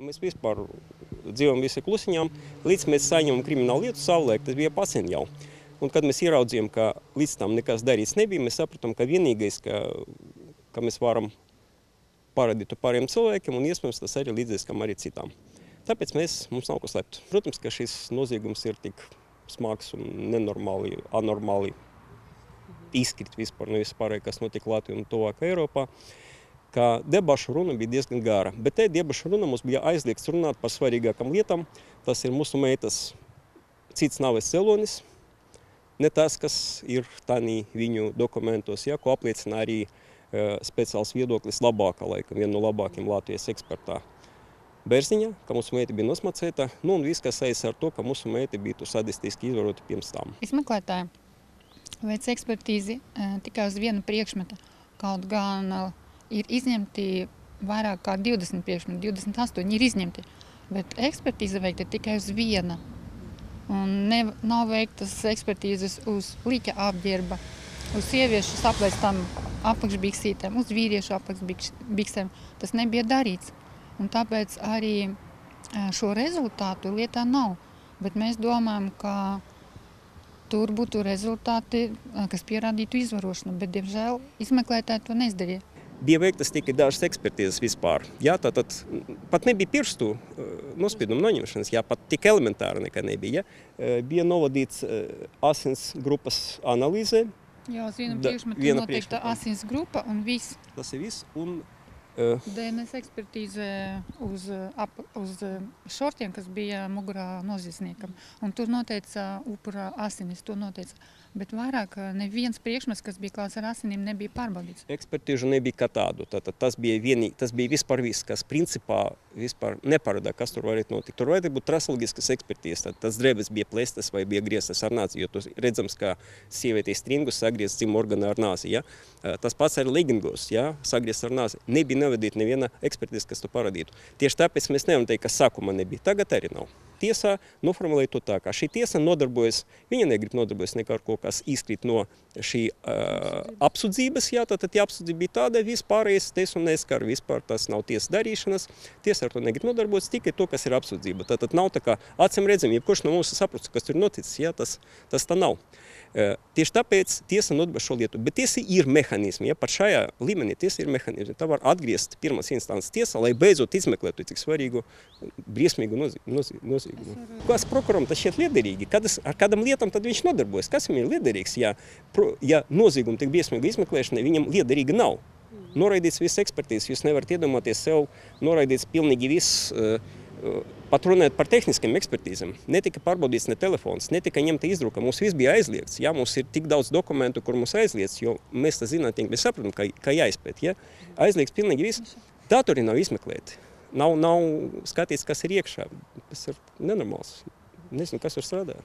Mēs vispār dzīvojam visi klusiņām, līdz mēs saņemam kriminālu lietu savulaik, tas bija pasen jau. Un kad mēs ieraudzījām, ka līdz tam nekas darīts nebija, mēs sapratam, ka vienīgais, ka mēs varam parādīt to pāriem cilvēkiem, un iespējams tas arī līdziskam arī citām. Tāpēc mums nav ko slept. Protams, ka šis noziegums ir tik smags un nenormāli, anormāli izkrit vispār no vispārēji, kas notika Latvijā un tuvāk Eiropā, ka debašu runa bija diezgan gara. Bet te debašu runa mums bija aizliegts runāt par svarīgākam lietām. Tas ir mūsu meitas cits nāves celonis, ne tas, kas ir tādī viņu dokumentos, ja, ko apliecina arī speciāls viedoklis labākā laika, viena no labākiem Latvijas ekspertā Bērziņa, ka mūsu meita bija nosmacēta, un viss, kas saistās ar to, ka mūsu meita bija sadistiski izvarota pirms tam. Izmeklētāji veic ekspertīzi tikai uz vienu priekšmetu, kaut gan ir izņemti vairāk kā 20 priekšmeti, 28 ir izņemti, bet ekspertīze veikta tikai uz viena. Un nav veiktas ekspertīzes uz līķa apģērba, uz sieviešu aplēstām apakšbiksītēm, uz vīriešu apakšbiksēm. Tas nebija darīts. Un tāpēc arī šo rezultātu lietā nav. Bet mēs domājam, ka tur būtu rezultāti, kas pierādītu izvarošanu, bet, diemžēl, izmeklētāji to neizdarīja. Bija veiktas tikai dažas ekspertīzes vispār. Jā, tātad pat nebija pirkstu nospiedumu noņemšanas, jā, pat tik elementāra nekā nebija. Ja. Bija novadīts asins grupas analīze. Jā, uz vienu priekšmetu noteikta asins grupa un viss. Tas ir viss. Un DNS ekspertīze uz šortiem, kas bija mugurā noziedzniekam. Un tur noteica upura asinis, to noteica. Bet vairāk neviens priekšmets, kas bija klāts ar asinīm, nebija pārbaudīts. Ekspertīžu nebija kā tādu. Tātad tas bija vispār viss, kas principā vispār neparādā, kas tur varētu notikt. Tur varētu būt trasoloģiskas ekspertīzes. Tas drēbes bija plēstas vai bija grieztas ar nāzi, jo tas redzams, ka sievietei stringus sagriezts dzimuma orgānu ar nāzi. Ja? Tas pats ar legingos, ja? Sagriezts ar nāzi. Nebija nevadīt neviena ekspertīze, kas to parādītu. Tieši tāpēc mēs nevaram teikt, ka sākumā nebija. Tagad arī nav. Tiesā noformulēja to tā, ka šī tiesa nodarbojas, viņa negrib nodarbojas nekā ar ko, kas izkrīt no šī apsūdzības. Jā, tātad apsūdzība bija tāda, vispārējais tiesu neskar, vispār tas nav tiesas darīšanas. Tiesa ar to negrib nodarbojas, tikai to, kas ir apsūdzība. Tātad nav tā kā acīm redzami, jebkurš no mums saprot, kas tur ir noticis, jā, tas tā nav. Tieši tāpēc tiesa nodarbojas šo lietu, bet tiesa ir mehānismi, ja, pat šajā līmenī tiesa ir mehānismi. Tā var atgriezt pirmās instances tiesā, lai beidzot izmeklētu cik svarīgu, briesmīgu noziegumu. Kas prokuram tas šķiet liederīgi? Ar kādam lietam tad viņš nodarbojas? Kas viņam ir liederīgs? Ja nozieguma tik briesmīga izmeklēšana, viņam liederīga nav. Noraidīts viss ekspertīzes, jūs nevarat iedomāties sev, noraidīts pilnīgi viss, pat runājot par tehniskiem ekspertīzēm. Netika pārbaudīts ne telefons, netika ņemta izdruka, mums viss bija aizliegts. Jā, mums ir tik daudz dokumentu, kur mums aizliegts, jo mēs tas zinātnieki, mēs saprotam, ka jāizpēt. Ja? Aizliegts pilnīgi viss. Datori nav izmeklēti. Nav skatīts, kas ir iekšā. Tas ir nenormāls. Nezinu, kas tur strādā.